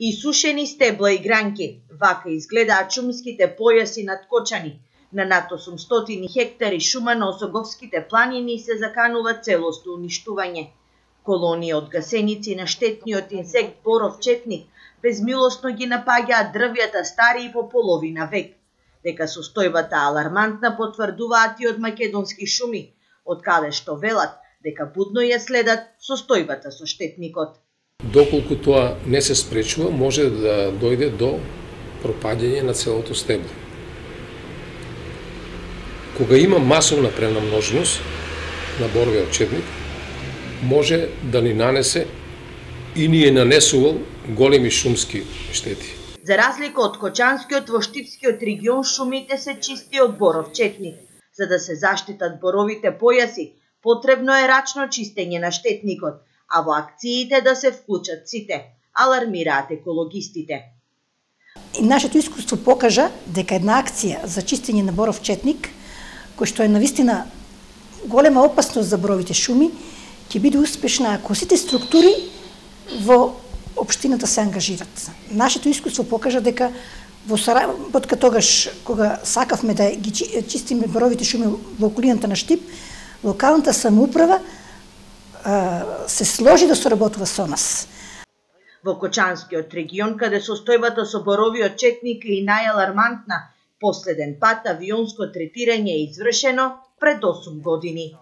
И сушени стебла и гранки, вака изгледаат шумските појаси над Кочани. На над 800 хектари шума на Осоговските планини се заканува целосно уништување. Колонија од гасеници на штетниот инсект боров четник безмилосно ги напаѓаат дрвјата стари и по половина век. Дека состојбата алармантна потврдуваат и од македонски шуми, од каде што велат дека будно ја следат состојбата со штетникот. Доколку тоа не се спречува, може да дојде до пропаѓање на целото стебло. Кога има масовна пренамноженост на боровиот четник, може да ни нанесе и ни е нанесувал големи шумски штети. За разлика од Кочанскиот, во Штипскиот регион шумите се чисти од боров четник. За да се заштитат боровите појаси, потребно е рачно чистење на штетникот, а во акциите да се вклучат сите, алармираат екологистите. Нашето искуство покажа дека една акција за чистење на боров четник, кој што е навистина голема опасност за боровите шуми, ќе биде успешна ако сите структури во општината се ангажират. Нашето искуство покажа дека во соработка тогаш кога сакавме да ги чистиме боровите шуми во околината на Штип, локалната самоуправа се сложи да соработува со нас. Во Кочанскиот регион, каде состојбата со боровиот четник е и најалармантна, последен пат авионско третирање е извршено пред 8 години.